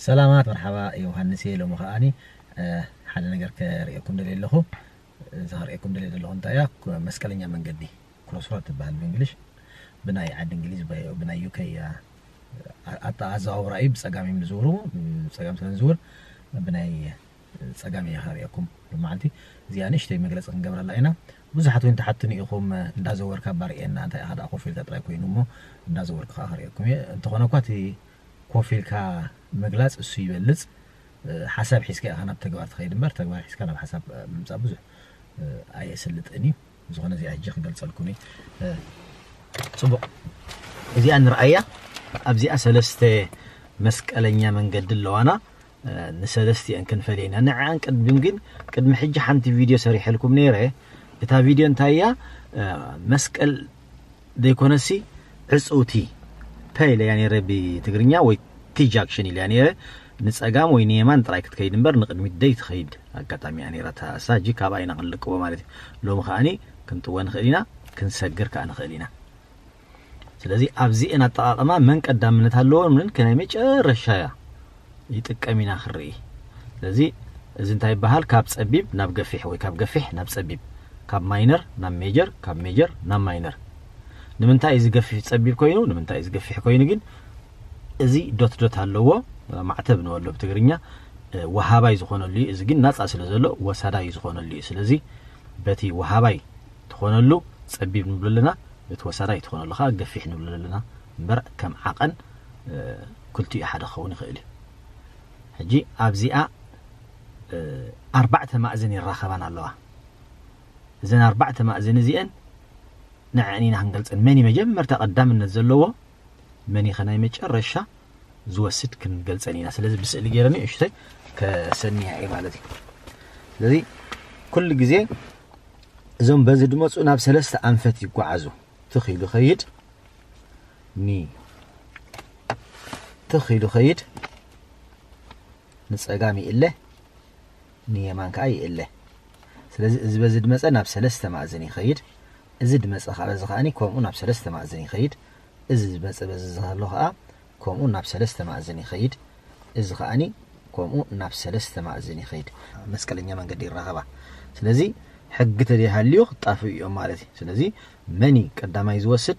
ሰላማት፣ መርሓባ፣ ዮሃንስ እየ። ሎሚ ከኣኒ ሓደ ነገር ከርእየኩም ደልየ ኣለኹ። እዛ ከርእየኩም ደልየ ዘለኹ እንታይ እያ? መስቀለኛ መንገዲ፣ ክሮስሮድ ትበሃል ብእንግሊሽ። ብናይ ዓዲ እንግሊዝ፣ ብናይ ዩ ኬ እያ ኣዘዋውራ እዩ። ብፀጋም እዮም ዝዝውሩ። ብፀጋም ስለ ንዝውር ብናይ ፀጋም እየ ከርእየኩም። መዓልቲ እዚኣ ንእሽተይ መግለፂ ክንገብረላ ኢና። ብዙሓት እውን ትሓትኑ ኢኹም፣ እንዳዘወርካ ባርእየና፣ እንታይ ኢኻ ደኣ ኮፍ ኢልካ ጥራይ ኮይኑ እሞ እንዳዘወርኩ ከዓ ከርእየኩም እየ። እንተኾነ እኳ እቲ ኮፍ ኢልካ ምግላፅ እሱ ይበልፅ። ሓሳብ ሒዝካ ኢኻ ናብ ተግባር ትኸይድ እምበር፣ ተግባር ሒዝካ ናብ ሓሳብ ምምፃእ ብዙሕ ኣየስልጥን እዩ። ዝኾነ እዚኣ ሕጂ ክገልፀልኩም እዩ። ፅቡቕ፣ እዚኣ ንርኣያ። ኣብዚኣ ሰለስተ መስቀለኛ መንገዲ ኣለዋና። ንሰለስቲአን ክንፈልየ ኢና። ንዕኣን ቅድም ግን፣ ቅድሚ ሕጂ ሓንቲ ቪድዮ ሰሪሐልኩም ነይረ። እታ ቪድዮ እንታይ እያ? መስቀል ዘይኮነሲ ዕፅውቲ ፐ ኢለያ ነይረ ብትግርኛ፣ ወይ ቲ ጃክሽን ኢለያ ነይረ። ንፀጋም ወይ ንየማን ጥራይ ክትከይድ እምበር ንቕድሚት ደይ ትኸይድ ኣጋጣሚ እያ ነይራ። እሳ ሕጂ ካብኣ ኢና ክንልቅቦ ማለት እዩ። ሎሚ ከኣኒ ክንጥወ ንኽእል ኢና፣ ክንሰግር ከኣ ንኽእል ኢና። ስለዚ ኣብዚአን ኣጠቓቕማ መን ቀዳምነት ኣለዎ፣ ምን ከናይ መጨረሻ እያ ይጥቀም ኢና ክንርኢ። ስለዚ እዚ እንታይ ይበሃል? ካብ ጸቢብ ናብ ገፊሕ ወይ ካብ ገፊሕ ናብ ጸቢብ፣ ካብ ማይነር ናብ ሜጀር፣ ካብ ሜጀር ናብ ማይነር። ንምንታይ እዚ ገፊሕ ጸቢብ ኮይኑ፣ ንምንታይ እዚ ገፊሕ ኮይኑ ግን? እዚ ዶት ዶት ኣለዎ፣ ማዕተብ ንበሎ ብትግርኛ፣ ወሃባይ ዝኾነሉ እዩ። እዚ ግን ናጻ ስለ ዘሎ ወሳዳይ ዝኾነሉ እዩ። ስለዚ በቲ ወሃባይ ትኾነሉ ጸቢብ ንብሎ ኣለና፣ በቲ ወሳዳይ ትኾነሉ ከዓ ገፊሕ ንብሎ ኣለና እምበር ከም ዓቐን ክልቲኡ ሓደ ክኸውን ይኽእል እዩ። ሕጂ ኣብዚኣ ኣርባዕተ ማእዝን ይራኸባን ኣለዋ። እዘን ኣርባዕተ ማእዝን እዚአን ንዐን ኢና ክንገልጸን። መን እዩ መጀመርታ ቀዳምነት ዘለዎ፣ መን እዩ ከናይ መጨረሻ ዝወስድ ክንገልጸን ኢና። ስለዚ ብስእሊ ገይረ ንእሽተይ ከሰንያ እየ ማለት እዩ። ስለዚ ኩሉ ግዜ እዞም በዚ ድመፁ ናብ ሰለስተ ኣንፈት ይጓዓዙ። ትኽ ኢሉ ኸይድ፣ ኒ ትኽ ኢሉ ኸይድ፣ ንጸጋም ይእለ፣ ንየማን ከዓ ይእለ። ስለዚ እዚ በዚ ድመፀ ናብ ሰለስተ ማእዝን ይኸይድ። እዚ ድመፀ ከዓ በዚ ከዓኒ ከምኡ ናብ ሰለስተ ማእዝን ይኸይድ። እዚ ዝመፀ በዚ ዝሃሎ ከዓ ከምኡ ናብ ሰለስተ ማእዝን ይኸይድ። እዚ ከዓኒ ከምኡ ናብ ሰለስተ ማእዝን ይኸይድ። መስቀለኛ መንገዲ ይራኸባ። ስለዚ ሕጊ ተደይሃልዩ ክጣፍኡ እዮም ማለት እዩ። ስለዚ መን እዩ ቀዳማይ ዝወስድ፣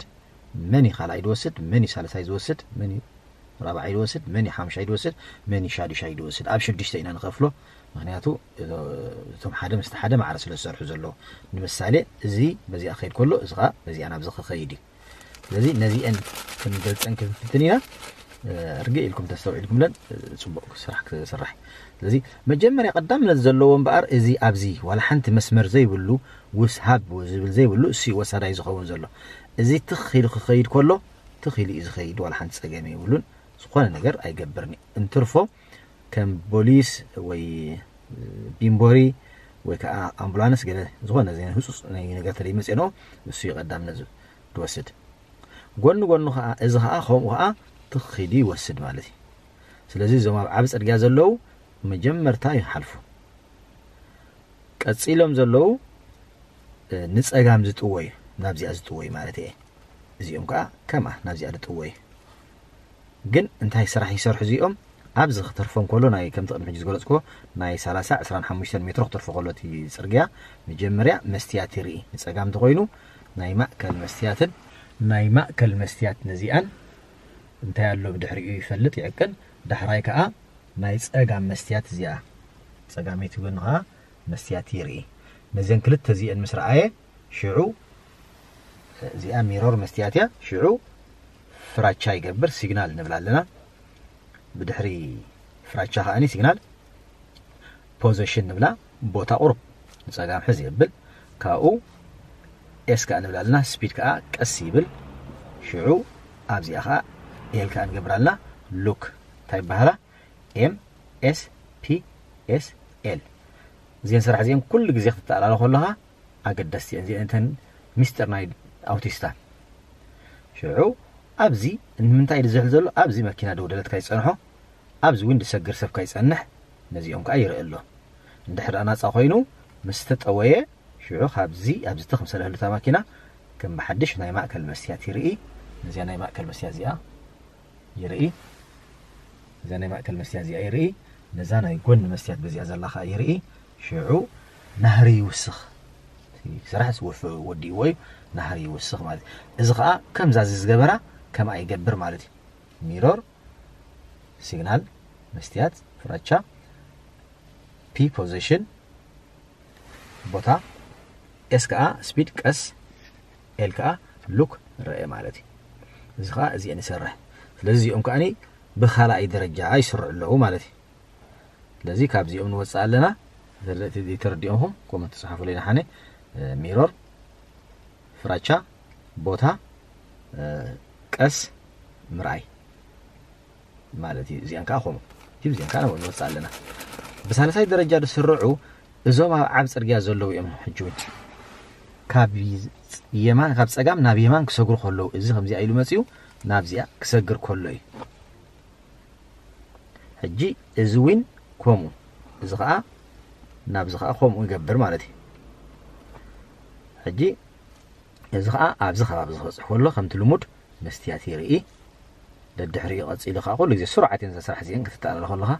መን እዩ ካልኣይ ዝወስድ፣ መን እዩ ሳልሳይ ዝወስድ፣ መን እዩ ራብዓይ ዝወስድ፣ መን እዩ ሓምሻይ ዝወስድ፣ መን እዩ ሻዱሻይ ዝወስድ፣ ኣብ ሽዱሽተ ኢና ንኸፍሎ። ምክንያቱ እቶም ሓደ ምስቲ ሓደ ማዕረ ስለ ዝሰርሑ ዘለዉ። ንምሳሌ እዚ በዚኣ ክኸይድ ከሎ እዚ ከዓ በዚኣ ናብዚ ክኸይድ እዩ። ስለዚ ነዚአን ክንገልፀን ክንፍትን ኢና። ርግእ ኢልኩም ተስተውዒልኩምለን ፅቡቅ ስራሕ ክስራሕ። ስለዚ መጀመርያ ቀዳምነት ዘለዎ እምበኣር እዚ ኣብዚ ዋላ ሓንቲ መስመር ዘይብሉ ውስሃብ ዝብል ዘይብሉ እሱ እዩ ወሳዳይ ዝኸውን ዘሎ። እዚ ትኽ ኢሉ ክኸይድ ከሎ ትኽ ኢሉ እዩ ዝኸይድ፣ ዋላ ሓንቲ ፀገም የብሉን። ዝኾነ ነገር ኣይገብርን እዩ። እንትርፎ ከም ቦሊስ ወይ ቢምቦሪ ወይ ከዓ ኣምቡላንስ ገለ ዝኾነ ዘይ ህፁፅ ናይ ነገር ተለይ መፅንኦ እሱ እዩ ቀዳምነት ዝወስድ። ጎኒ ጎኑ ከዓ እዚ ከዓ ከምኡ ከዓ ትኽ ኢሉ ይወስድ ማለት እዩ። ስለዚ እዞም ኣብ ዓቢ ፅርግያ ዘለዉ መጀመርታ ይሓልፉ። ቀፂሎም ዘለዉ ንፀጋም ዝጥወዩ፣ ናብዚኣ ዝጥወዩ ማለት እየ። እዚኦም ከዓ ከምኣ ናብዚኣ ዝጥወዩ። ግን እንታይ ስራሕ ይሰርሑ እዚኦም? ኣብዚ ክተርፎም ከሎ ናይ ከምቲ ቅድሚ ሕጂ ዝገለፅኩዎ ናይ ሰላሳ ዕስራን ሓሙሽተን ሜትሮ ክተርፎ ከሎ እቲ ፅርግያ መጀመርያ መስትያት ይርኢ። ንፀጋም እንተኮይኑ ናይ ማእከል መስትያትን ናይ ማእከል መስትያት ነዚኣን እንታይ ኣሎ ብድሕሪኡ ይፈልጥ ይዕቅን። ዳሕራይ ከዓ ናይ ፀጋም መስትያት እዚኣ ፀጋመይቲ ጎኒ ከዓ መስትያት ይርኢ። ነዘን ክልተ እዚአን ምስ ረኣየ ሽዑ እዚኣ ሚሮር መስትያት እያ። ሽዑ ፍራቻ ይገብር፣ ሲግናል ንብላ ኣለና። ብድሕሪ ፍራቻ ከዓኒ ሲግናል ፖዚሽን ንብላ፣ ቦታ ቁሩብ ንፀጋም ሕዝ የብል። ካብኡ ኤስ ከዓ ንብላ ኣለና፣ ስፒድ ከዓ ቀስ ይብል። ሽዑ ኣብዚኣ ከዓ ኤል ከዓ ንገብር ኣለና። ሉክ እንታይ ይበሃላ? ኤም ኤስ ፒ ኤስ ኤል። እዚአን ስራሕ እዚአን ኩሉ ግዜ ክትተኣላለ ከለኻ ኣገደስቲ እየን። እዚአን እተን ሚስጥር ናይ ኣውቲስታ። ሽዑ ኣብዚ ንምንታይ ዝሕል ዘሎ? ኣብዚ መኪና ደው ደለት ካይጸንሖ፣ ኣብዚ እውን ዝሰግር ሰብ ካይጸንሕ፣ ነዚኦም ከዓ ይርኢ ኣሎ። እንድሕር ደኣ ናጻ ኮይኑ ምስ ተጠወየ፣ ሽዑ ካብዚ ኣብዚ ትኽ ምስ በለ ህሉታ ማኪና ከም ብሓድሽ ናይ ማእከል መስትያት ይርኢ። ነዚኣ ናይ ማእከል መስትያት እዚኣ ይርኢ። እዛ ናይ ማእከል መስትያት እዚኣ ይርኢ፣ ነዛ ናይ ጎኒ መስትያት በዚኣ ዘላ ከዓ ይርኢ። ሽዑ ናህሪ ይውስኽ። እቲ ስራሕ ዝወፈ-፣ ወዲእዎ እዩ፣ ናህሪ ይውስኽ ማለት እዩ። እዚ ከዓ ከምዛ እዚ ዝገበራ ከምኣ ይገብር ማለት እዩ። ሚሮር፣ ሲግናል፣ መስትያት፣ ፍራቻ፣ ፒ ፖዚሽን፣ ቦታ፣ ኤስ ከዓ ስፒድ፣ ቀስ፣ ኤል ከዓ ሉክ፣ ረአ ማለት እዩ። እዚ ከዓ እዚአን ይሰርሕ። ስለዚ እዚኦም ከዓኒ ብኻልኣይ ደረጃ ይስርዑ ኣለዉ ማለት እዩ። ስለዚ ካብዚኦም ንወፅእ ኣለና። ተረዲእኹም ኮመንት ተፅሓፉለይ ንሓነ። ሚሮር፣ ፍራቻ፣ ቦታ፣ ቀስ፣ ምርኣይ ማለት እዩ። እዚኣን ከዓ ከምኡ። እዚኣን ከዓ ንወፅእ ኣለና። ብሳልሳይ ደረጃ ዝስርዑ እዞም ኣብ ዓብ ፅርግያ ዘለዉ እዮም። ሕጂ እውን ካብ የማን፣ ካብ ፀጋም ናብ የማን ክሰግሩ ከለዉ፣ እዚ ከምዚኣ ኢሉ መፅዩ ናብዚኣ ክሰግር ከሎ እዩ። ሕጂ እዚ እውን ከምኡ፣ እዚ ከዓ ናብዚ ከዓ ከምኡ ይገብር ማለት እዩ። ሕጂ እዚ ከዓ ኣብዚ ከባቢ ክበፅሕ ከሎ ከምቲ ልሙድ መስትያት ይርኢ። ደድሕሪኡ ቀፂሉ ከዓ ኩሉ ግዜ ስሩዓት እየን እዛ ስራሕ እዚአን ክትተኣለለ ከለኻ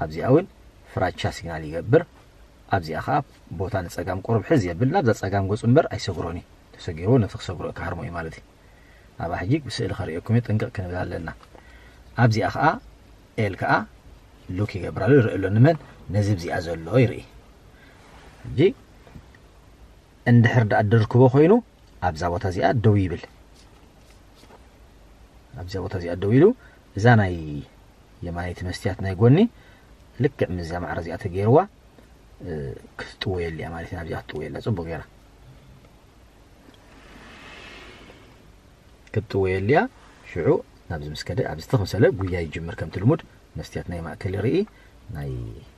ኣብዚኣ እውን ፍራቻ ሲግናል ይገብር። ኣብዚኣ ከዓ ቦታ ንፀጋም ቁሩብ ሕዝ የብል፣ ናብዛ ፀጋም ገፁ እምበር ኣይሰግሮን እዩ። ተሰጊርዎ ነቲ ክሰግሮ ክሃርሞ እዩ ማለት እዩ። ኣብኣ ሕጂ ብስእሊ ከርእየኩም እየ፣ ጥንቅቕ ክንብል ኣለና። ኣብዚኣ ከዓ ኤል ከዓ ሉክ ይገብር ኣሎ፣ ይርኢ ኣሎ። ንመን? ነዚ ኣብዚኣ ዘሎ ይርኢ። ሕጂ እንድሕር ደኣ ደርክቦ ኮይኑ ኣብዛ ቦታ እዚኣ ደው ይብል። ኣብዛ ቦታ እዚኣ ደው ኢሉ እዛ ናይ የማነይቲ መስትያት ናይ ጎኒ ልክዕ ምስዛ ማዕረ እዚኣ ተገይርዋ፣ እ፣ ክትጥወየሉ እያ ማለት እዩ። ኣብዚኣ ክትጥወየላ ጽቡቕ ገይራ ክትጥወየሉ እያ። ሽዑ ናብዚ ምስ ከደ ኣብዚ ትኽ ምሰለ ጉያ ይጅምር። ከምቲ ልሙድ መስትያት ናይ ማእከል ይርኢ፣ ናይ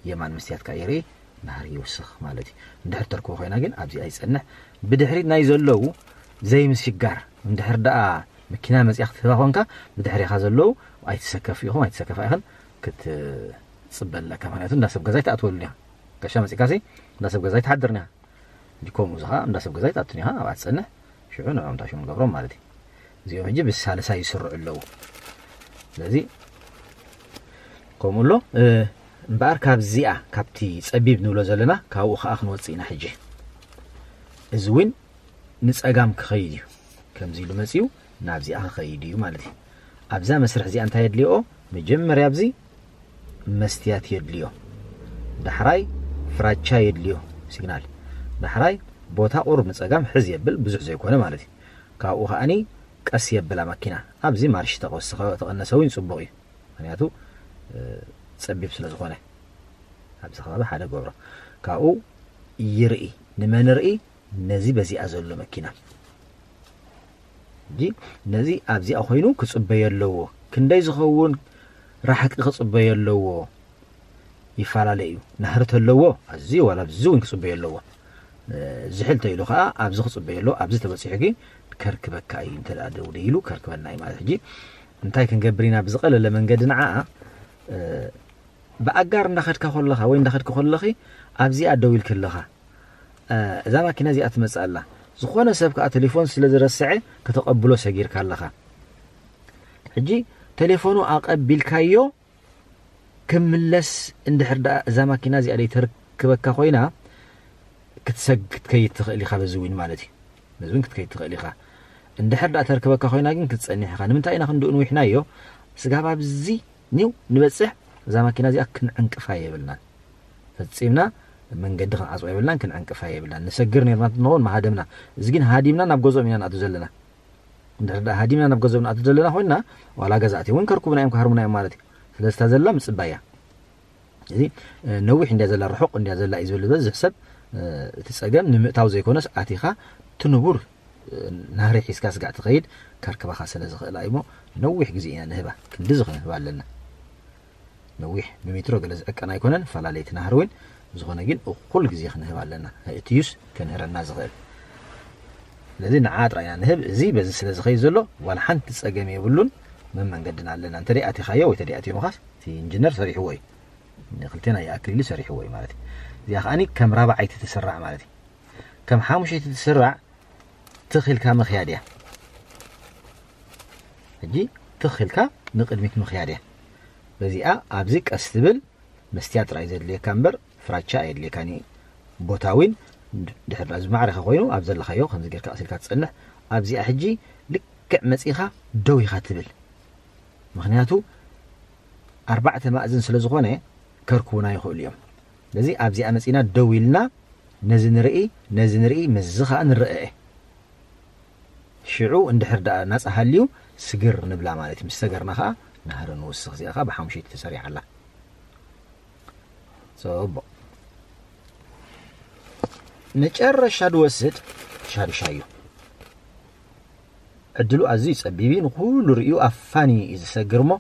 የማን መስትያት ከዓ ይርኢ፣ ናህሪ ይውስኽ ማለት እዩ። እንድሕር ተርክቦ ኮይና ግን ኣብዚ ኣይጸንሕ። ብድሕሪት ናይ ዘለዉ ዘይምስጋር፣ እንድሕር ደኣ መኪና መጺኣ ክትህባ ኮንካ ብድሕሪኻ ዘለዉ ኣይትሰከፍ ኢኹም ኣይትሰከፋ ኢኽን ክትጽበ ኣለካ። ምክንያቱ እንዳ ሰብ ገዛ ኣይትኣትወሉ ኢኻ። ጋሻ መጺእካሲ እንዳ ሰብ ገዛ ኣይትሓድርን ኢኻ። ከምኡ እዚ ኸዓ እንዳ ሰብ ገዛ ኣይትኣቱን ኢኻ፣ ኣብኣ ትጸንሕ። ሽዑ ንዕኦም ታሽሙ ንገብሮም ማለት እዩ። እዚኦም ሕጂ ብሳልሳይ ይስርዑ ኣለዉ። ስለዚ ከምኡ ኣሎ። እ፣ እምበኣር ካብዚኣ፣ ካብቲ ጸቢብ ንብሎ ዘለና፣ ካብኡ ኸዓ ክንወጽእ ኢና ሕጂ። እዚ እውን ንጸጋም ክኸይድ እዩ። ከምዚ ኢሉ መጺኡ ናብዚኣ ክኸይድ እዩ ማለት እዩ። ኣብዛ መስርሕ እዚኣ እንታይ የድልዮ? መጀመርያ ኣብዚ መስትያት የድልዮ። ዳሕራይ ፍራቻ የድልዮ፣ ሲግናል። ዳሕራይ ቦታ ቁሩብ ንጸጋም ሕዝ የብል፣ ብዙሕ ዘይኮነ ማለት እዩ። ካብኡ ከኣኒ ቀስ የብላ መኪና። ኣብዚ ማርሽ ተወሰኸ፣ ተቐነሰ እውን ጽቡቕ እዩ። ምክንያቱ፣ እ፣ ጸቢብ ስለ ዝኾነ። ኣብዚ ከባቢ ሓደ ገብሮ። ካብኡ ይርኢ፣ ንመን ርኢ? ነዚ በዚኣ ዘሎ መኪና። ሕጂ ነዚ ኣብዚኣ ኮይኑ ክጽበዮ ኣለዎ። ክንደይ ዝኸውን ራሕቂ ክጽበዮ ኣለዎ? ይፈላለ እዩ። ናህሪ ተለዎ፣ ኣዝዩ ዋላ ኣብዚ እውን ክጽበዮ ኣለዎ። እ፣ ዝሕል ተኢሉ ኸዓ ኣብዚ ክጽበዮ ኣለዎ። ኣብዚ ተበጺሑ ግን ከርክበካ እዩ። እንተ ደኣ ደው ኢሉ ከርክበና እዩ ማለት። ሕጂ እንታይ ክንገብር ኢና? ብዝቐለለ መንገዲ ንዓኣ፣ እ፣ ብኣጋር እንዳኸድካ ከለኻ ወይ እንዳኸድኪ ከለኺ ኣብዚኣ ደው ኢልኪ ኣለኻ። እ፣ እዛ ማኪና እዚኣ ትመጽእ ኣላ። ዝኾነ ሰብ ከኣ ቴሌፎን ስለ ዝረስዐ ከተቐብሎ ሰጊርካ ኣለኻ። ሕጂ ቴሌፎኑ ኣቐቢልካዮ ክምለስ እንድሕር ደኣ እዛ ማኪና እዚኣ ደይ ተርክበካ ኮይና ክትሰግ-፣ ክትከይድ ትኽእል ኢኻ በዚ እውን ማለት እዩ። በዚ እውን ክትከይድ ትኽእል ኢኻ። እንድሕር ደኣ ተርክበካ ኮይና ግን ክትጸንሕ ኢኻ። ንምንታይ ኢና ክንድኡ ንዊሕናዮ? ስጋብ ኣብዚ ኒው ንበጽሕ እዛ ማኪና እዚኣ ክንዕንቅፋ የብልናን። ፈጺምና መንገዲ ክንዓጽዋ የብልናን፣ ክንዕንቅፋ የብልናን። ንሰግር ነርና እንተንኸውን ምሃደምና። እዚ ግን ሃዲምና ናብ ገዝኦም ኢና ንኣቱ ዘለና። እንድሕር ደኣ ሃዲምና ናብ ገዝኦም ንኣቱ ዘለና ኮይንና፣ ዋላ ገዛእቲ እውን ከርኩቡና እዮም፣ ክሃርሙና እዮም ማለት እዩ። ስለዚ እታ ዘላ ምጽባይ እያ። እዚ፣ እ፣ ነዊሕ እንድያ ዘላ፣ ርሑቕ እንድያ ዘላ እዩ ዝብል ዝበዝሕ ሰብ፣ እ፣ እቲ ጸገም ንምእታው ዘይኮነስ ኣቲኻ እቲ ንቡር፣ እ፣ ናህሪ ሒዝካ ስጋዕ ትኸይድ ከርክባኻ ስለ ዝኽእላ እዩ እሞ ነዊሕ ግዜ ኢና ንህባ። ክንድዚ ክንህባ ኣለና። ነዊሕ ብሜትሮ ገለ ዝዕቀን ኣይኮነን፣ ፈላለይቲ ናህሪ እውን። ዝኾነ ግን እኹል ግዜ ክንህብ ኣለና። እትዩስ ከንህረና ዝኽእል። ስለዚ ንዓ ጥራይ ኢና ንህብ። እዚ በዚ ስለ ዝኸይድ ዘሎ ዋላ ሓንቲ ጸገም የብሉን። መመንገድና ኣለና። እንተ ደይ ኣቲኻዮ ወይ ተደይ ኣትዮምኻስ እቲ ኢንጂነር ሰሪሕዎ እዩ። ንክልቴና ይኣክል ኢሉ ሰሪሕዎ እዩ ማለት እዩ። እዚኣ ከኣኒ ከም ራብዓይቲ ትስራዕ ማለት እዩ። ከም ሓሙሸይቲ ትስራዕ ትኽ ኢልካ ምኽያድ እያ። ሕጂ ትኽ ኢልካ ንቕድሚት ምኽያድ እያ። እዚኣ ኣብዚ ቀስ ትብል መስትያት ጥራይ ዘድልየካ እምበር ፍራቻ ኣየድልየካን እዩ። ቦታ እውን ድሕር ዳኣ ዝማዕረኸ ኮይኑ ኣብ ዘለኻዮ ከምዚ ጌርካ ቀሲልካ ትጸንሕ። ኣብዚኣ ሕጂ ልክዕ መጺኻ ደው ኢኻ ትብል። ምኽንያቱ ኣርባዕተ ማእዝን ስለ ዝኾነ ከርክቡና ይኽእሉ እዮም። ስለዚ ኣብዚኣ መጺና ደው ኢልና ነዚ ንርኢ፣ ነዚ ንርኢ፣ ምስዚ ኸኣ ንረአ። ሽዑ እንድሕር ደኣ ናጻ ሃልዩ ስግር ንብላ ማለት እዩ። ምስ ሰገርና ኸኣ ናህሪ ንውስኽ። እዚኣ ኸኣ ብሓሙሽይቲ ተሰሪዓ ኣላ። ጽቡቕ። መጨረሻ ድወስድ ሻዱሻይ እዩ። ዕድሉ ኣዝዩ ጸቢብ እዩ። ንኹሉ ርእዩ ኣፋኒ እዩ ዝሰግር እሞ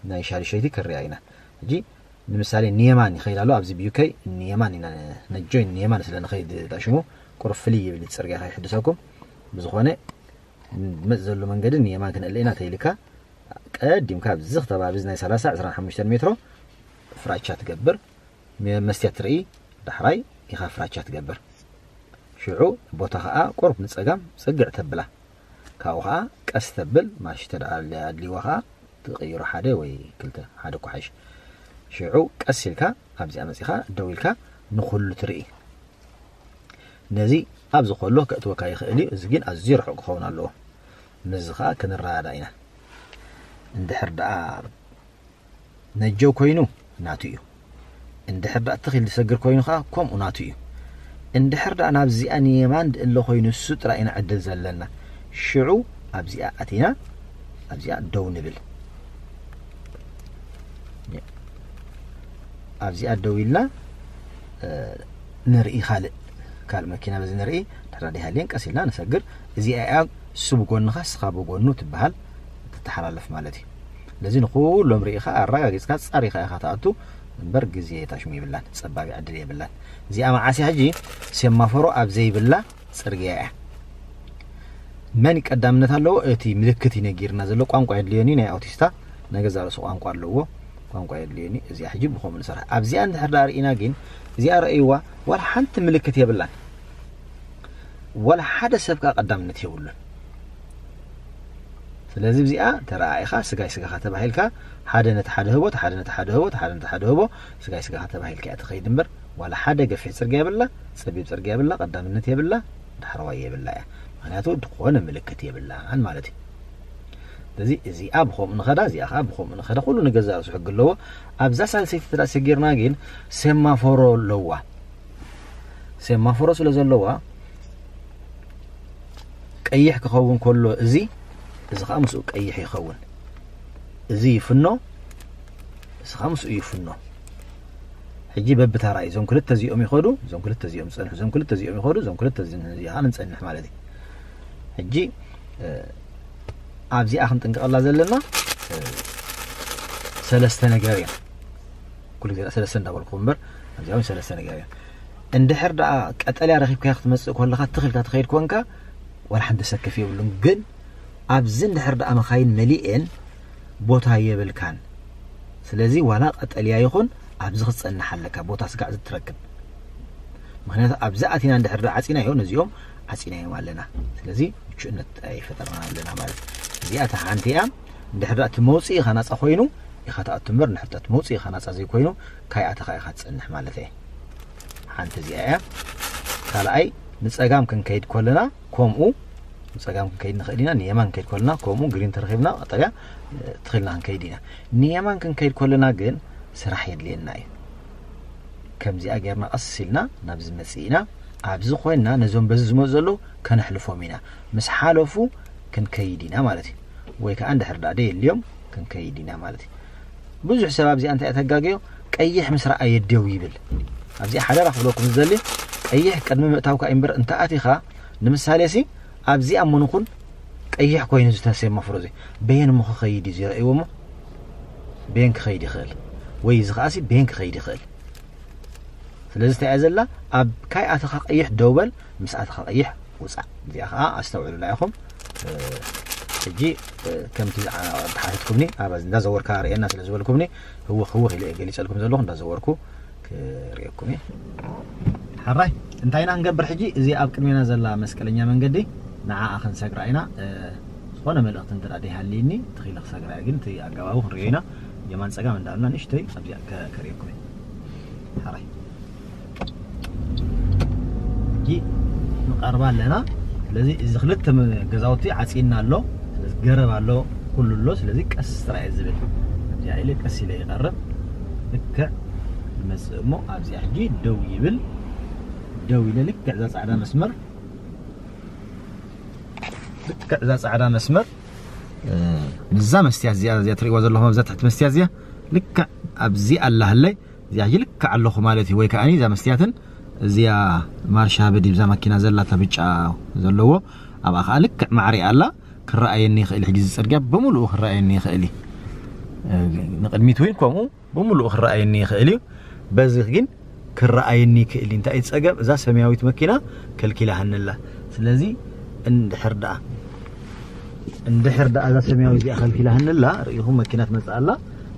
ናይ ሻዱሸይቲ ክርያ ኢና። ሕጂ ንምሳሌ ንየማን ይኸይድ ኣሎ። ኣብዚ ብዩከይ ንየማን ኢና፣ ነጆይን ንየማን ስለ ንኸይድ ዳሽሙ ቁሩብ ፍልይ ይብል ጽርግያ ከይሕድሰኩም። ብዝኾነ ዝመጽእ ዘሎ መንገዲ ንየማን ክንእለ ኢና ተይልካ ቀዲምካ ኣብዚ ከባቢ ናይ ሰላሳ ዕስራን ሓሙሽተን ሜትሮ ፍራቻ ትገብር። መ-፣ መስትያት ትርኢ፣ ዳሕራይ ኢኻ ፍራቻ ትገብር። ሽዑ ቦታ ኸኣ ቁሩብ ንጸጋም ጽግዕ ተብላ። ካብኡ ኸኣ ቀስ ተብል ማሽ ተደኣ ኣድልይዋ ኸኣ ትቕይሮ ሓደ ወይ ክልተ፣ ሓደ እኳ ሓይሽ። ሽዑ ቀስ ኢልካ ኣብዚኣ መጺኻ ደው ኢልካ ንኹሉ ትርኢ። ነዚ ኣብዚ ከሎ ከእትወካ ይኽእል እዩ። እዚ ግን ኣዝዩ ርሑቕ ክኸውን ኣለዎ። ምስዚ ኸኣ ክንረዳዳ ኢና። እንድሕር ደኣ ነጀው ኮይኑ ናቱ እዩ። እንድሕር ደኣ ትኽ ኢሉ ዝሰግር ኮይኑ ኸኣ ከምኡ ናቱ እዩ። እንድሕር ደኣ ናብዚኣ ንየማን ድእለ ኮይኑ እሱ ጥራይ ኢና ዕድል ዘለና። ሽዑ ኣብዚኣ ኣቲና ኣብዚኣ ደው ንብል። ኣብዚኣ ደው ኢልና፣ እ፣ ንርኢ ካልእ፣ ካልእ መኪና በዚ ንርኢ። ድሕራ ደይሃልየን ቀስ ኢልና ንሰግር። እዚኣ እያ እሱ ብጎንኻ እስኻ ብጎኑ ትበሃል፣ ትተሓላለፍ ማለት እዩ። ስለዚ ንኹሎም ርኢኻ ኣረጋጊጽካ ጻሪኻ ኢኻ ትኣቱ እምበር ግዜ ታሽሙ የብላን፣ ጸባብ ዕድል የብላን። እዚኣ መዓስ እያ ሕጂ ሴማፎሮ ኣብ ዘይብላ ጽርግያ እያ። መን ቀዳምነት ኣለዎ? እቲ ምልክት እዩ ነጊርና ዘሎ። ቋንቋ የድልዮኒ፣ ናይ ኣውቲስታ ናይ ገዛ ርእሱ ቋንቋ ኣለዎ። ቋንቋ የድልዮኒ። እዚኣ ሕጂ ብኸምኡ ንሰርሕ። ኣብዚኣ እንድሕር ደኣ ርኢና ግን፣ እዚኣ ረእይዋ፣ ዋላ ሓንቲ ምልክት የብላን። ዋላ ሓደ ሰብ ከኣ ቀዳምነት የብሉን። ስለዚ እዚኣ ተረኣኢኻ፣ ስጋይ ስጋኻ ተባሂልካ፣ ሓደ ነቲ ሓደ ህቦ፣ እቲ ሓደ ነቲ ሓደ ህቦ፣ እቲ ሓደ ነቲ ሓደ ህቦ፣ ስጋይ ስጋኻ ተባሂልካ እያ ትኸይድ እምበር፣ ዋላ ሓደ ገፊሕ ጽርግያ የብላ፣ ጸቢብ ጽርግያ የብላ፣ ቀዳምነት የብላ፣ ዳሕረዋይ የብላ እያ። ምኽንያቱ ዝኾነ ምልክት የብላን ማለት እዩ። ስለዚ እዚኣ ብኸምኡ ንኸዳ፣ እዚኣ ኸዓ ብኸምኡ ንኸዳ፣ ኩሉ ንገዛእ ርእሱ ሕጊ ኣለዎ። ኣብዛ ሳልሰይቲ ተዳ ሰጊርና ግን ሴማፎሮ ኣለዋ። ሴማፎሮ ስለ ዘለዋ ቀይሕ ክኸውን ከሎ እዚ፣ እዚ ኸዓ ምስኡ ቀይሕ ይኸውን። እዚ ይፍኖ፣ እዚ ኸዓ ምስኡ ይፍኖ። ሕጂ በብታራ እዩ። እዞም ክልተ እዚኦም ይኸዱ፣ እዞም ክልተ እዚኦም ዝጸንሑ፣ እዞም ክልተ እዚኦም ይኸዱ፣ እዞም ክልተ እዚ፣ እዚ ኸዓ ንጸንሕ ማለት እዩ። ሕጂ፣ እ፣ ኣብዚኣ ክንጥንቀቐላ ዘለና፣ እ፣ ሰለስተ ነገር እዮም። ኩሉ ግዜ ሰለስተ እንዳበልኩ እምበር፣ ኣብዚኣ እውን ሰለስተ ነገር እዮም። እንድሕር ደኣ ቀጠልያ ረኺብካዮ ክትመጽእ ከለኻ፣ ትኽ ኢልካ ትኸይድ ኮንካ፣ ዋላ ሓንቲ ዘሰክፍ የብሉን። ግን ኣብዚ እንድሕር ደኣ መኻይን መሊኤን ቦታ የብልካን። ስለዚ ዋላ ቀጠልያ ይኹን ኣብዚ ክትጸንሕ ኣለካ፣ ቦታ ስጋዕ ዝትረክብ። ምኽንያቱ ኣብዚ ኣቲና እንድሕር ደኣ ዓጺናዮ፣ ነዚኦም ዓጺናዮም ኣለና። ስለዚ ምቹእነት ኣይፈጠርና ኣለና ማለት እዩ። እዚኣ እታ ሓንቲ እያ። እንድሕር ደኣ እቲ መውጽኢ ኢኻ ናጻ ኮይኑ ኢኻ ትኣቱ እምበር፣ እንድሕር ደኣ እቲ መውጽኢ ኢኻ ናጻ ዘይኮይኑ ካይኣተኻ ኢኻ ትጸንሕ ማለት እየ። ሓንቲ እዚኣ እያ። ካልኣይ ንጸጋም ክንከይድ ከለና ከምኡ ንጸጋም ክንከይድ ንኽእል ኢና፣ ንየማን ክንከይድ ከለና ከምኡ ግሪን ተረኺብና ቀጠልያ፣ እ፣ ትኽልና ክንከይድ ኢና። ንየማን ክንከይድ ከለና ግን ስራሕ የድልየና እዩ። ከምዚኣ ጌርና ቀስ ኢልና ናብዚ መጽእ ኢና። ኣብዚ ኮይንና ነዞም በዚ ዝመጹ ዘለዉ ከነሕልፎም ኢና። ምስ ሓለፉ ክንከይድ ኢና ማለት እዩ። ወይ ከኣ እንድሕር ደኣ ደየልዮም ክንከይድ ኢና ማለት እዩ። ብዙሕ ሰብ ኣብዚኣ እንታይ እያ ተጋግዮ? ቀይሕ ምስ ረኣየ ደው ይብል። ኣብዚኣ ሓደራ ክብለኩም ዝደሊ፣ ቀይሕ ቅድሚ ምእታውካ እዩ እምበር እንተ ኣቲኻ፣ ንምሳሌ ሲ ኣብዚኣ እሞ ንኹን ቀይሕ ኮይኑ ዝተሰየመ ፍረ እዚ በየን እሞ ክኸይድ እዩ ዝረእይዎ እሞ በየን ክኸይድ ይኽእል ወይ እዚ ከኣ ሲ በየን ክኸይድ ይኽእል። ስለዚ እንታይ እያ ዘላ? ኣብ ካይ ኣተኻ ቀይሕ ደው በል፣ ምስ ኣተኻ ቀይሕ ውጻእ። እዚኣ ከኣ ኣስተውዕሉላ ኢኹም። እ፣ ሕጂ፣ እ፣ ከምቲ ዝዓ-፣ ተሓቲትኩምኒ፣ ኣብ እንዳዘወርካ ርእየና ስለ ዝበልኩምኒ፣ ህውኽ ህውኽ ኢለ እየ ገሊጸልኩም ዘለኹ፣ እንዳዘወርኩ ክርእየኩም እየ። ሕራይ፣ እንታይ ኢና ክንገብር ሕጂ? እዚ ኣብ ቅድሜና ዘላ መስቀለኛ መንገዲ ንዓኣ ክንሰግራ ኢና። እ፣ ዝኾነ መልእኽቲ እንተ ደኣ ደይሃልይኒ፣ ትኺለ ክሰግራ እየ፣ ግን እቲ ኣገባቡ ክንርእዮ ኢና። የማን ጸጋም እንዳልና ንእሽተይ ኣብዚኣ ከ- ከርእየኩም እየ። ሓራይ ሕጂ ንቐርባ ኣለና። ስለዚ እዚ ክልተ መ- ገዛውቲ ዓፂና ኣሎ። ስለዚ ገረብ ኣሎ፣ ኩሉ ኣሎ። ስለዚ ቀስ ጥራይ ዝብል ኣብዚኣ ኢለ ቀስ ኢለ ይቐርብ። ልክዕ ይመፅእ እሞ ኣብዚኣ ሕጂ ደው ይብል። ደው ኢለ ልክዕ እዛ ፃዕዳ መስመር ልክዕ እዛ ፃዕዳ መስመር እ፣ ንዛ መስትያት እዚኣ እዚኣ ትርእይዋ ዘለኹም ኣብዛ ትሕቲ መስትያት እዚኣ ልክዕ ኣብዚ ኣላ ህለይ እዚኣ ሕጂ ልክዕ ኣለኹ ማለት እዩ። ወይ ከዓኒ እዛ መስትያትን እዚኣ ማርሻ በዲ ብዛ ማኪና ዘላ እታ ብጫ ዘለዎ ኣብኣ ከዓ ልክዕ ማዕሪኣ ኣላ። ክረኣየኒ ይኽእል ሕጂ እዚ ፅርግያ ብምሉኡ ክረኣየኒ ይኽእል እዩ። እ፣ ንቕድሚት እውን ከምኡ ብምሉኡ ክረኣየኒ ይኽእል እዩ። በዚ ግን ክረኣየኒ ይኽእል እዩ። እንታይ እዩ ጸገም? እዛ ሰማያዊት መኪና ከልኪላህንላ። ስለዚ እንድሕር ደኣ እንድሕር ደኣ እዛ ሰማያዊት እዚኣ ከልኪላህንላ ርኢኹም መኪና ትመጽእ ኣላ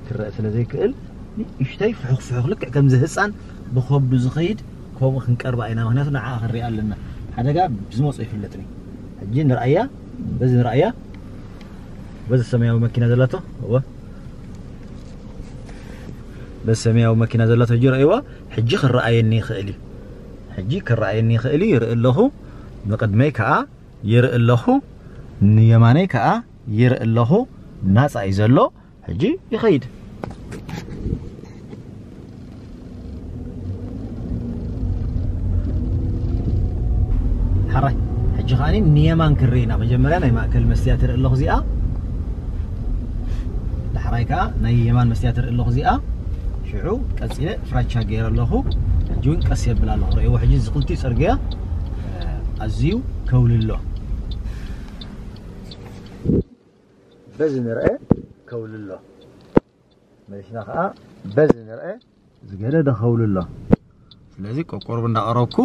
ክረአ ስለ ዘይክእል ንእሽተይ ፍሑኽ ፍሑኽ ልክዕ ከምዚ ህፃን ብኸብዱ ዝኸይድ ከምኡ ክንቀርባ ኢና። ምክንያቱ ንዓ ክንሪኣ ኣለና። ሓደጋ ብዝመፁ ይፍለጥኒ። ሕጂ ንርኣያ፣ በዚ ንርኣያ፣ በዚ ሰማያዊ መኪና ዘላቶ እወ በሰማያዊ መኪና ዘላ ተጅሮ እዋ ሕጂ ክረኣየኒ ይኽእል እዩ። ሕጂ ክረኣየኒ ይኽእል እዩ፣ ይርኢ ኣለኹ። ንቕድመይ ከኣ ይርኢ ኣለኹ፣ ንየማነይ ከኣ ይርኢ ኣለኹ። ናጻ እዩ ዘሎ። ሕጂ ይኸይድ። ሓራይ ሕጂ ከኣ ንየማን ክርኢ ኢና። መጀመርያ ናይ ማእከል መስትያት ርኢ ኣለኹ እዚኣ። ዳሕራይ ከኣ ናይ የማን መስትያት ርኢ ኣለኹ እዚኣ። ሽዑ ቀጺለ ፍራቻ ገይረ ኣለኹ። ሕጂ እውን ቀስ የብል ኣለኹ። ርእይዎ ሕጂ እዚ ክልቲኡ ጽርግያ፣ እ፣ ኣዝዩ ከውልሎ። በዚ ንርአ ከውልሎ። መሊስና ከኣ በዚ ንርአ ዝገደደ ከውልሎ። ስለዚ ቆቆርብ እንዳቐረብኩ፣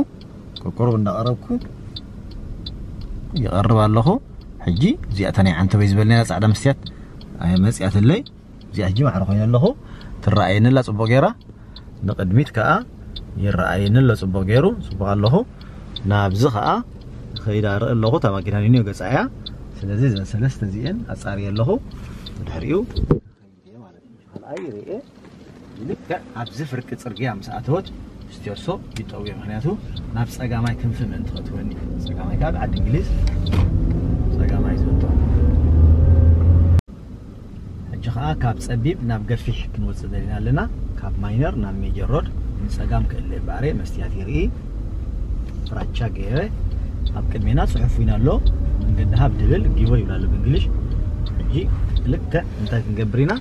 ቆቆርብ እንዳቐረብኩ ይቐርብ ኣለኹ። ሕጂ እዚኣ እታ ናይ ዓንተበይ ዝበልናያ ጻዕዳ መስትያት፣ ኣይ፣ መጽያትለይ። እዚኣ ሕጂ ማዕረ ኮይነ ኣለኹ። ትረኣየኒ ኣላ ጽቡቕ ገይራ። ንቕድሚት ከኣ ይረኣየኒ ኣሎ ጽቡቕ ገይሩ። ጽቡቕ ኣለኹ። ናብዚ ከኣ ከይዳ ርኢ ኣለኹ። እታ ማኪና ንንዮ ገጻ እያ። ስለዚ እዘን ሰለስተ እዚኤን ኣጻርየ ኣለኹ። ብድሕሪኡ ካልኣይ ርኤ ልክዕ ኣብዚ ፍርቂ ጽርግያ ምስ ኣተወት ስቴርሶ ይጠውዮ። ምክንያቱ ናብ ጸጋማይ ክንፊ ምእንቲ ከትወኒ። ጸጋማይ ከኣ ብዓዲ እንግሊዝ ጸጋማይ ዝእቶ። ሕጂ ከኣ ካብ ጸቢብ ናብ ገፊሕ ክንወጽእ ደሊና ኣለና። ካብ ማይነር ናብ ሜጀር ሮድ ንጸጋም ክእለ እምበኣር መስትያት ይርኢ። ፍራቻ ገይረ ኣብ ቅድሜና ጽሑፍ ዊና ኣሎ። መንገዲ ሃብ ድብል ጊቦ ይብላ ኣሎ ብእንግሊሽ። ሕጂ ልክዕ እንታይ ክንገብር ኢና?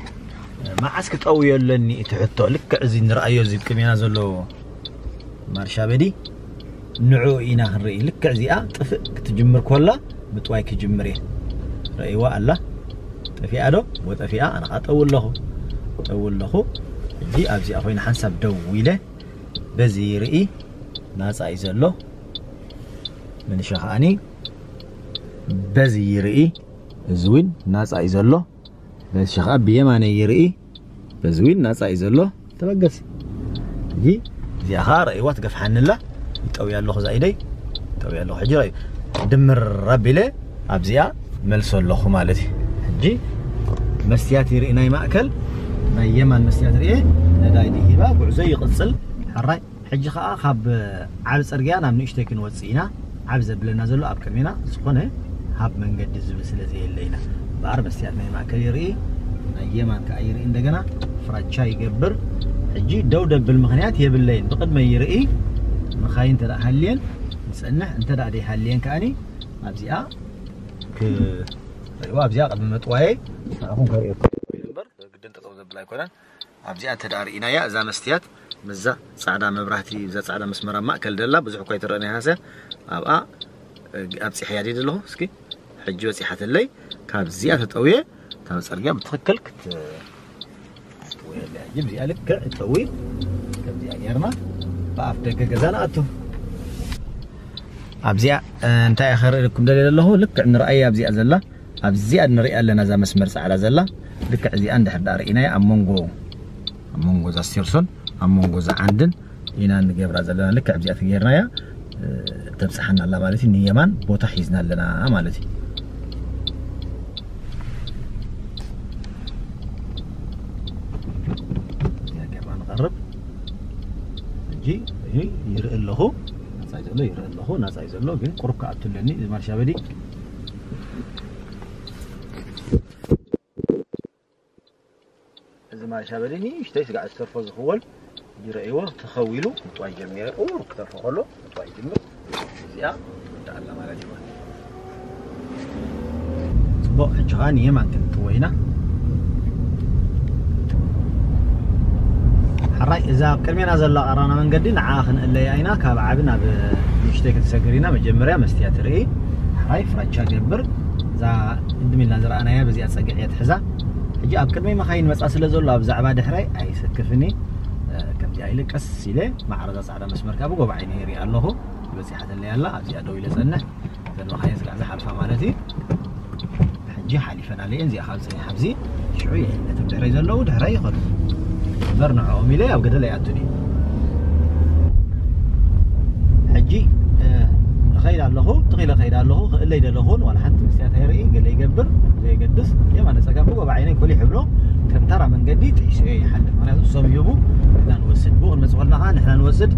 መዓስ ክጠውዮ ኣለኒ እቲ ሕቶ? ልክዕ እዚ ንርኣዮ እዚ ቅድሜና ዘሎ ማርሻ በዲ ንዕኡ ኢና ክንርኢ። ልክዕ እዚኣ ጥፍእ ክትጅምር ኮላ ምጥዋይ ክጅምር እየ። ረእይዋ ኣላ። ጠፊኣ ዶ? ወጠፊኣ። ኣነ ኸዓ ጠው ኣለኹ። ጠው ኣለኹ። ሕጂ ኣብዚኣ ኮይነ ሓንሳብ ደው ኢለ በዚ ይርኢ። ናጻ እዩ ዘሎ። መንሻ ከዓኒ በዚ ይርኢ። እዚ እውን ናጻ እዩ ዘሎ። በዚ ኸዓ ብየማነይ ይርኢ። በዚ እውን ናጻ እዩ ዘሎ። ተበገስ። እዚ እዚኣ ኸዓ ረእይዋ ትገፍሓኒ ኣላ። ይጠውያ ኣለኹ እዛ ኢደይ። ይጠውያ ኣለኹ። ሕጂ ረእዩ። ድምር ኣቢለ ኣብዚኣ መልሶ ኣለኹ ማለት እዩ። ሕጂ መስትያት ይርኢ ናይ ማእከል፣ ናይ የማን መስትያት ርኤ። ነዳይ ድሂባ ጉዕዞ ይቕጽል። ሕራይ። ሕጂ ኸዓ ካብ ዓቢ ጽርግያ ናብ ንእሽተይ ክንወጽእ ኢና። ዓቢ ዘብለና ዘሎ ኣብ ቅድሜና ዝኾነ ሃብ መንገዲ ዝብል ስለ ዘየለ ኢና። እምበኣር መስትያት ናይ ማእከል ይርኢ፣ ናይ የማን ከኣ ይርኢ። እንደገና ፍራቻ ይገብር። ሕጂ ደው ደብል ምኽንያት የብለይን። ብቕድመይ ይርኢ። መኻይን እንተ ደኣ ሃልየን ንጸንሕ፣ እንተ ደኣ ደይሃልየን ከኣኒ ኣብዚኣ ክ-፣ ርእይዋ ኣብዚኣ ቅድሚ መጥዋየይ ንዓኹም ከርእየኩም እምበር ግድን ጠጠው ዘብል ኣይኮነን። ኣብዚኣ እንተ ደኣ ርኢናያ እዛ መስትያት ምስዛ ጻዕዳ መብራህቲ፣ እዛ ጻዕዳ መስመር ኣብ ማእከል ደላ ብዙሕ እኳ ኣይትረኣን እያ ሃስያ፣ ኣብኣ፣ እ፣ ኣብጺሐያ ድየ ዘለኹ? እስኪ ሕጂ በጺሓትለይ። ካብዚኣ ተጠውየ፣ እታ ጽርግያ ብትኽክል ክት-፣ ክትወየለያ። ሕጂ ኣብዚኣ ልክዕ ጠዊ፣ ከምዚኣ ጌርና ብኣፍ ደገ ገዛ ንኣቱ። ኣብዚኣ፣ እ፣ እንታይ እየ ከርእየኩም ደልየ ዘለኹ? ልክዕ ንረኣያ ኣብዚኣ ዘላ ኣብዚኣ ንሪኣ ኣለና፣ እዛ መስመር ጻዕዳ ዘላ። ልክዕ እዚኣ እንድሕር ደኣ ርኢናያ፣ ኣብ መንጎ፣ ኣብ መንጎ እዛ ስቴርሶን፣ ኣብ መንጎ እዛ ዓንድን ኢና ንገብራ ዘለና። ልክዕ ኣብዚኣ ተገይርናያ፣ እ፣ ተብጽሓና ኣላ ማለት እዩ። ንየማን ቦታ ሒዝና ኣለና ማለት እዩ። ሕጂ ይርኢ ኣለኹ። ናጻ እዩ ዘሎ፣ ይርኢ ኣለኹ። ናጻ እዩ ዘሎ፣ ግን ቁሩብ ክኣቱ ኣለኒ። እዚ ማርሻ በዲ፣ እዚ ማርሻ በዲ ንእሽተይ ስጋዕ ዝተርፎ ዝኽወል ይረእይዎ፣ ተኸዊሉ ምጥዋይ ጀሚሩ። ቁሩብ ክተርፎ ከሎ ምጥዋይ ይጅምር። እዚኣ ትወዳእ ኣላ ማለት እዩ። ጽቡቕ፣ ሕጂ ኸኣ ንየማን ክንጥወ ኢና። ሕራይ፣ እዛ ኣብ ቅድሜና ዘላ ቀራና መንገዲ ንዓ ክንእለያ ኢና። ካብ ዓቢ ናብ ንእሽተይ ክትሰግር ኢና። መጀመርያ መስትያ ትርኢ። ሕራይ፣ ፍራቻ ገብር። እዛ ቅድም ኢልና ዝረኣናያ በዚኣ ጸግዕ እያ ትሕዛ። ሕጂ ኣብ ቅድመይ መኻይን መጻ ስለ ዘሎ ኣብ ዛዕባ ድሕረይ ኣይሰክፍኒ። እ፣ ከምዚኣ ኢለ ቀስ ኢለ ማዕረዛ ጻዕዳ መስመር ካብ ጎባዓይ ነይሪ ኣለኹ። በጺሓ ዘለያ ኣላ። ኣብዚኣ ደው ኢለ ጸንሕ። እተን መኻይን ስጋዕ ዝሓልፋ ማለት እዩ። ሕጂ ሓሊፈን ኣለየን። እዚኣ ካብ ጽኒሕ ኣብዚ ሽዑ የእለቶም ድሕረይ ዘለዉ ድሕረይ ይኸዱ። እምበር ንዕኦም ኢለ ኣብ ገደል ኣይኣቱን እዩ። ሕጂ፣ እ፣ እኸይድ ኣለኹ፣ ትኺለ እኸይድ ኣለኹ፣ ክእለይ ደለኹን ዋላ ሓንቲ መስትያት ኣይርኢ፣ ገለ ይገብር፣ ዘየገድስ፣ የማነ ጸጋም ብጎባዓይነይ ኮሊሕ ይብሎ፣ ከም ተራ መንገዲ ጥሒሱ እየ ይሓልፍ። ምኽንያቱ ሰብዩቡ ንሕና ንወስድ፣ ብኡ ክንመጽእ ከለና ኸዓ ንሕና ንወስድ፣